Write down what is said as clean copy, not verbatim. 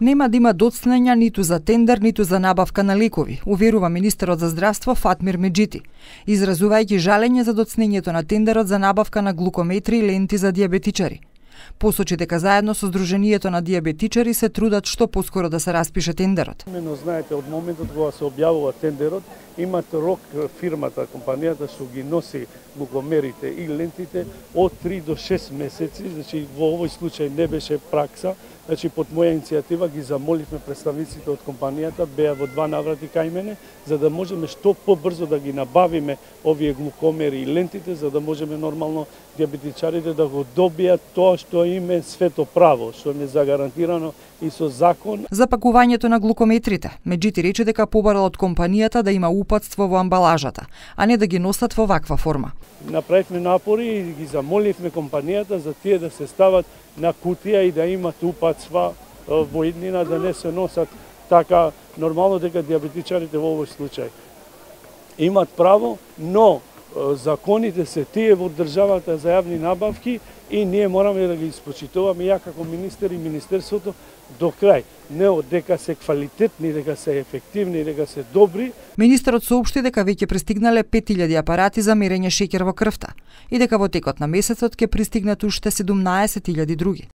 Нема да има доцнења ниту за тендер, ниту за набавка на лекови, уверува министерот за здравство Фатмир Меджити, изразувајќи жалење за доцнењето на тендерот за набавка на глукометри и ленти за дијабетичари. Посочи дека заедно со Сдруженијето на дијабетичари се трудат што поскоро да се распише тендерот. Именно знаете, од моментот кога се објавува тендерот, имат рок фирмата, компанијата што ги носи глукомерите и лентите од 3 до 6 месеци, значи во овој случај не беше пракса. Значи, под моја иницијатива ги замоливме представниците од компанијата, беа во 2 наврати кај мене, за да можеме што побрзо да ги набавиме овие глукомери и лентите, за да можеме нормално дијабетичарите да го добијат тоа што им е свето право, што им е загарантирано и со закон. За пакувањето на глукометрите, Меджити рече дека побарал од компанијата да има упатство во амбалажата, а не да ги носат во ваква форма. Направивме напори и ги замоливме компанијата за тие да се стават на кутија и да имат упатства во иднина, да не се носат така нормално, дека дијабетичарите во овој случај имат право, но законите се тие во државата за јавни набавки и ние мораме да ги испочитуваме ја како министер и министерството до крај. Не дека се квалитетни, дека се ефективни, дека се добри. Министерот соопшти дека веќе пристигнале 5000 апарати за мерење шеќер во крвта и дека во текот на месецот ќе пристигнат уште 17.000 други.